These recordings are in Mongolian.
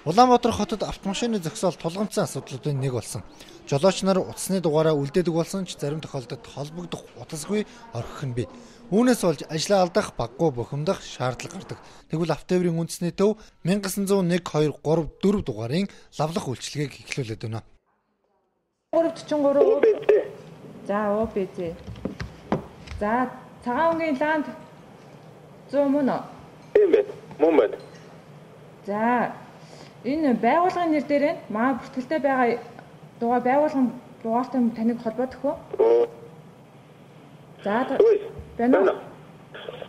Улаанбаатар хотод автомашины зогсоол тулгамдсан асуудлуудын нэг болсон. Жолооч нар утасны дугаараа үлдээдэг болсон ч зарим тохиолдолд холбогдох утасгүй орхих нь бий. Үүнээс болж ажлаа алдах, баггүй бухимдах шаардлага гардаг. Тэгвэл автоэврийн үндэсний төв 1901, 2, 3, 4 дугаарын лавлах үйлчилгээг эхлүүлээд байна. 343. За ОБЗ. За цагаан өнгийн ланд 100 мөн үү? Тийм байна. Мөн байна. За энэ байгууллагын нэр дээр маа бүртгэлтэй байгаа дугаар байгууллагын дугаартай таныг холбоодох уу? За байна.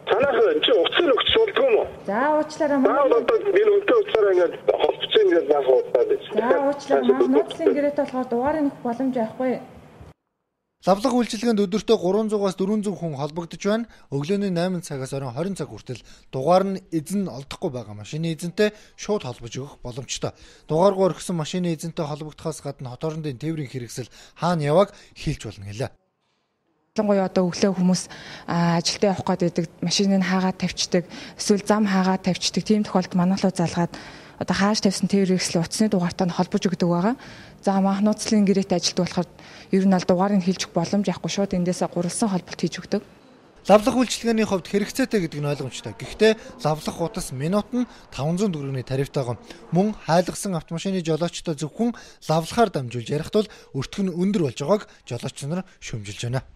Танах чи утсыг өгч суулдаг юм уу? За уучлаарай маа. Одоо би үнэтэй утсаараа ингээд холбоцсон ингээд баах удаад байна. За уучлаарай маа. Нууцлын гэрээтэй болохоор дугаарыг нөх боломж байхгүй. Лавлах үйлчилгээнд өдөртөө 300-аас 400 хүн холбогдож байна. Өглөөний 8 цагаас оройн 20 цаг хүртэл дугаар нь эзэн олдохгүй байгаа машины эзэнтэй шууд холбож өгөх боломжтой. Дугааргүй орхисон машины эзэнтэй холбогдохоос гадна хот орондын тээврийн хэрэгсэл хаана яваг хэлж болно гэлээ. Ялангуяа одоо өглөө хүмүүс ажилдаа явах гээд байдаг машиныг хаагаад тавьчихдаг, эсвэл зам хаагаад тавьчихдаг. Тийм тохиолдолд манайхлуу залгаад одоо хааж тавьсан тээврийн хэрэгсэл утасны дугаартай нь холбож өгдөг байгаа. За маах нууцлын гэрээтэй ажилд болохоор ер нь аль дугаарыг хэлж өгөх боломж яахгүй шууд эндээсээ гурвалсан холболт хийж өгдөг. Лавлах үйлчилгээний хувьд хэрэгцээтэй гэдэг нь ойлгомжтой. Гэхдээ лавлах утас минут нь 500 төгрөгийн тарифтайгаа мөн хайлгсан автомашины жолоочтой зөвхөн лавлахаар дамжуулж ярих тул өртгөн өндөр болж байгааг жолооч нар шүүмжилж байна.